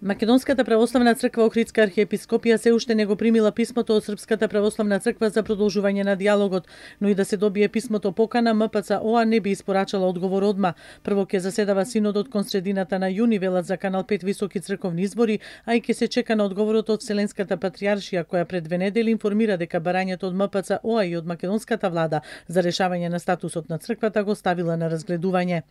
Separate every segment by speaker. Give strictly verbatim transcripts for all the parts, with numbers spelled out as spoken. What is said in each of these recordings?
Speaker 1: Македонската православна црква Охридска архиепископија се уште не го примила писмото од Српската православна црква за продолжување на диалогот, но и да се добие писмото покана, М П Ц О А не би испорачала одговор одма. Прво ќе заседава синодот кон средината на јуни, велат за Канал пет високи црковни избори, а и ќе се чека на одговорот од Вселенската патријаршија, која пред две недели информира дека барањето од М П Ц О А и од македонската влада за решавање на статусот на црквата го ставила на разгледување.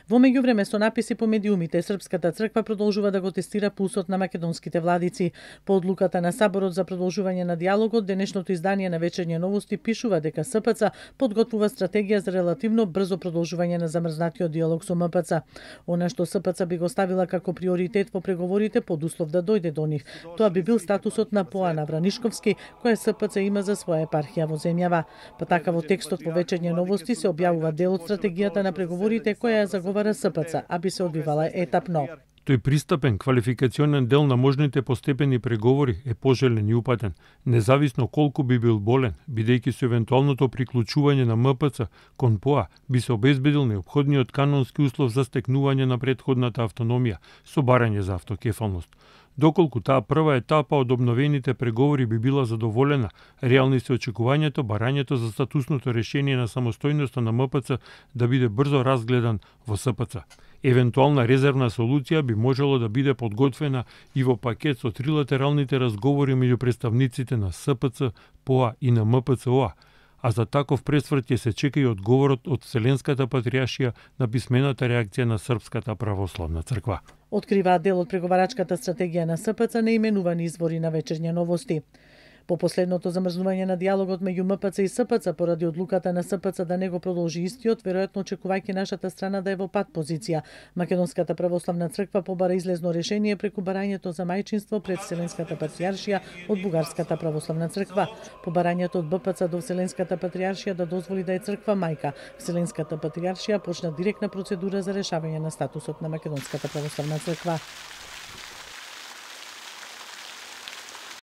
Speaker 1: Во меѓувреме со написи по медиумите, Српската црква продолжува да го тестира пулсот на македонските владици. По одлуката на Саборот за продолжување на диалогот, денешното издание на Вечерње новости пишува дека С П Ц подготвува стратегија за релативно брзо продолжување на замрзнатиот диалог со М П Ц. Она што С П Ц би го ставила како приоритет во преговорите под услов да дојде до нив, тоа би бил статусот на Поана Вранишковски, која С П Ц има за своја епархија во земјава. Па така во текстот во Вечерње новости се објавува дел од стратегијата на преговорите која ја заговара С П Ц, а би се одвивала етапно.
Speaker 2: Тој пристапен, квалификационен дел на можните постепени преговори е пожелен и упатен, независно колку би бил болен, бидејќи со евентуалното приклучување на М П Ц кон П O A би се обезбедил неопходниот канонски услов за стекнување на претходната автономија со барање за автокефалност. Доколку таа прва етапа од обновените преговори би била задоволена, реални се очекувањето барањето за статусното решение на самостојноста на М П Ц да биде брзо разгледан во С П Ц. Евентуална резервна солуција би можело да биде подготвена и во пакет со трилатералните разговори меѓу представниците на С П Ц, П O A и на М П Ц О А, а за таков пресврт ќе се чека и одговорот од Вселенската патријаршија на писмената реакција на Српската православна црква.
Speaker 1: Откриваат дел од преговарачката стратегија на С П Ц неименувани извори на Вечерње новости. По последното замрзнување на диалогот меѓу М П Ц и С П Ц поради одлуката на С П Ц да не го продолжи истиот, веројатно очекувајќи нашата страна да е во пат позиција, Македонската православна црква побара излезно решение преку барањето за мајчинство пред Вселенската патријаршија од Бугарската православна црква. По барањето од Б П Ц до Вселенската патријаршија да дозволи да е црква мајка, Вселенската патријаршија почна директна процедура за решавање на статусот на Македонската православна црква.